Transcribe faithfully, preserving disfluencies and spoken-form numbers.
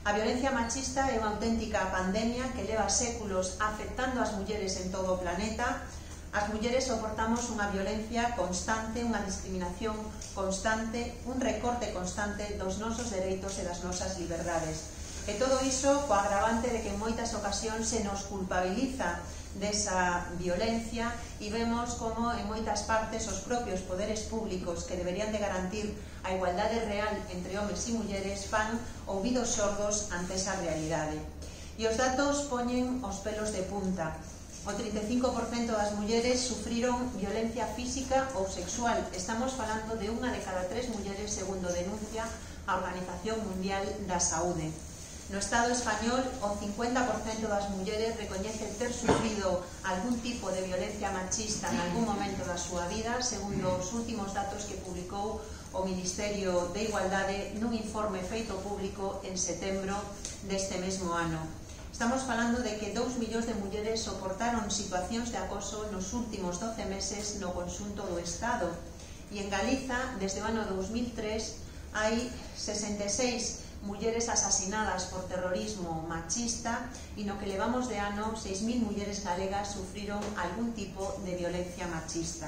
A violencia machista é unha auténtica pandemia que leva séculos afectando as mulleres en todo o planeta. As mulleres soportamos unha violencia constante, unha discriminación constante, un recorte constante dos nosos dereitos e das nosas liberdades. E todo iso co agravante de que en moitas ocasións se nos culpabiliza desa violencia e vemos como en moitas partes os propios poderes públicos que deberían de garantir a igualdade real entre homes e mulleres fan ouvidos sordos ante esa realidade. E os datos poñen os pelos de punta. O trinta e cinco por cento das mulleres sufriron violencia física ou sexual. Estamos falando de unha de cada tres mulleres, segundo denuncia a Organización Mundial da Saúde. No Estado español, o cincuenta por cento das mulleres recoñece ter sufrido algún tipo de violencia machista en algún momento da súa vida, segundo os últimos datos que publicou o Ministerio de Igualdade nun informe feito público en setembro deste mesmo ano. Estamos falando de que dous millóns de mulleres soportaron situacións de acoso nos últimos doce meses no conxunto do Estado. E en Galiza, desde o ano dous mil tres, hai sesenta e seis mulleres asasinadas por terrorismo machista e no que levamos de ano seis mil mulleres galegas sufriron algún tipo de violencia machista.